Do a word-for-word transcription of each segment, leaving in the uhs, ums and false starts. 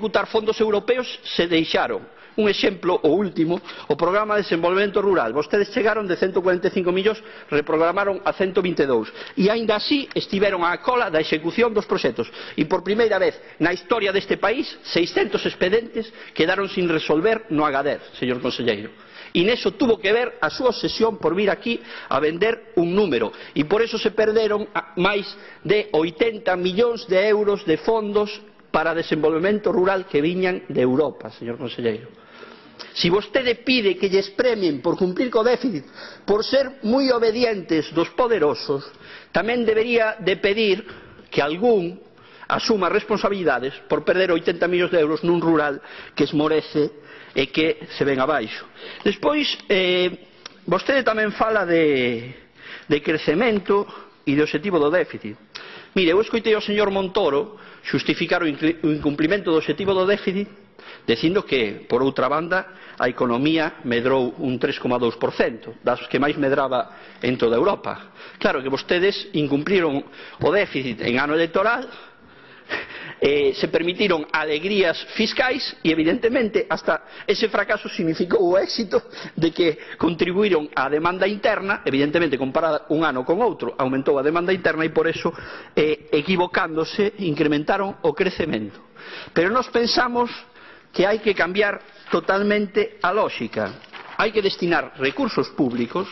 executar fondos europeos se deixaron. Un exemplo, o último, o Programa de Desenvolvemento Rural. Vostedes chegaron de ciento cuarenta e cinco millóns, reprogramaron a ciento vinte e dous. E aínda así estiveron á cola da execución dos proxectos. E por primeira vez na historia deste país, seiscentos expedientes quedaron sin resolver no Agadir, señor conselleiro. E neso tuvo que ver a súa obsesión por vir aquí a vender un número. E por eso se perderon máis de oitenta millóns de euros de fondos para desenvolvemento rural que viñan de Europa, señor conselleiro. Si vostede pide que lles premien por cumplir co déficit, por ser moi obedientes dos poderosos, tamén debería de pedir que algún asuma responsabilidades por perder oitenta millóns de euros nun rural que esmorece e que se ven abaixo. Despois, eh, vostede tamén fala de, de crecemento e de obxectivo do déficit. Mire, eu escoitei ao señor Montoro xustificar o incumplimento do obxectivo do déficit dicindo que, por outra banda, a economía medrou un tres coma dous por cento, das que máis medraba en toda Europa. Claro que vostedes incumpliron o déficit en ano electoral, eh, se permitiron alegrías fiscais e, evidentemente, hasta ese fracaso significou o éxito de que contribuíron á demanda interna, evidentemente, comparada un ano con outro, aumentou a demanda interna e, por eso, eh, equivocándose, incrementaron o crecemento. Pero nós pensamos que hai que cambiar totalmente a lógica. Hai que destinar recursos públicos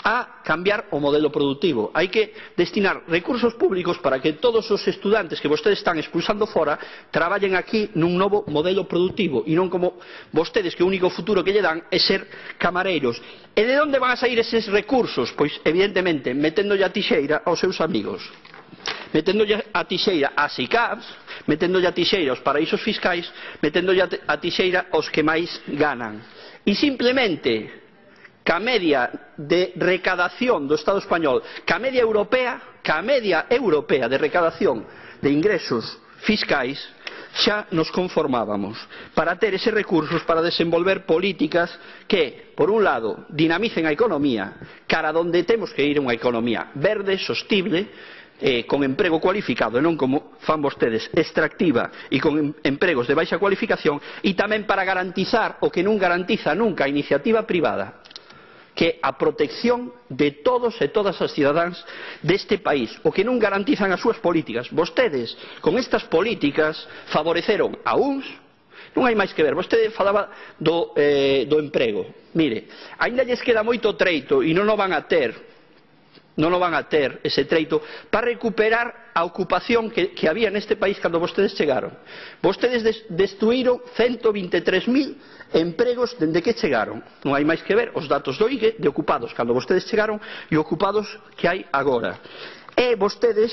a cambiar o modelo productivo. Hai que destinar recursos públicos para que todos os estudantes que vostedes están expulsando fora traballen aquí nun novo modelo productivo e non como vostedes que o único futuro que lle dan é ser camareiros. E de onde van a sair eses recursos? Pois, evidentemente, meténdolle a tixeira aos seus amigos, meténdolle a tixeira ás ICAPs, meténdolle a tixeira aos paraísos fiscais, meténdolle a tixeira aos que máis ganan. E simplemente, ca media de recadación do Estado español, ca media europea, ca media europea de recadación de ingresos fiscais, xa nos conformábamos para ter eses recursos para desenvolver políticas que, por un lado, dinamicen a economía, cara donde temos que ir unha economía verde, sostible, Eh, con emprego cualificado e non como fan vostedes, extractiva e con empregos de baixa cualificación, e tamén para garantizar o que non garantiza nunca a iniciativa privada, que a protección de todos e todas as cidadáns deste país, o que non garantizan as súas políticas. Vostedes, con estas políticas, favoreceron a uns. Non hai máis que ver. Vostede falaba do, eh, do emprego. Mire, aínda lles queda moito treito e non o van a ter non o van a ter ese treito para recuperar a ocupación que, que había neste país cando vostedes chegaron. Vostedes des, destruíron ciento vinte e tres mil empregos dende que chegaron. Non hai máis que ver os datos do I G E de ocupados cando vostedes chegaron e ocupados que hai agora. E vostedes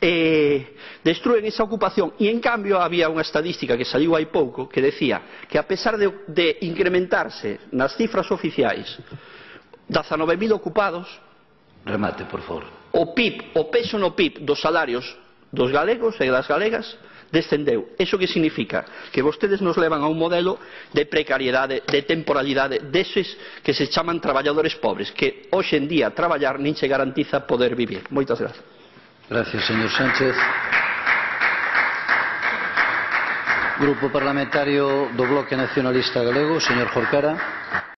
eh, destruen esa ocupación e, en cambio, había unha estadística que saliu hai pouco que decía que, a pesar de, de incrementarse nas cifras oficiais dezanove mil ocupados, remate, por favor. O P I B, o peso no P I B dos salarios dos galegos e das galegas descendeu. Iso que significa? Que vostedes nos levan a un modelo de precariedade, de temporalidade, deses que se chaman traballadores pobres, que hoxe en día traballar nin se garantiza poder vivir. Moitas gracias. Gracias, señor Sánchez. Grupo Parlamentario do Bloque Nacionalista Galego, señor Jorcara.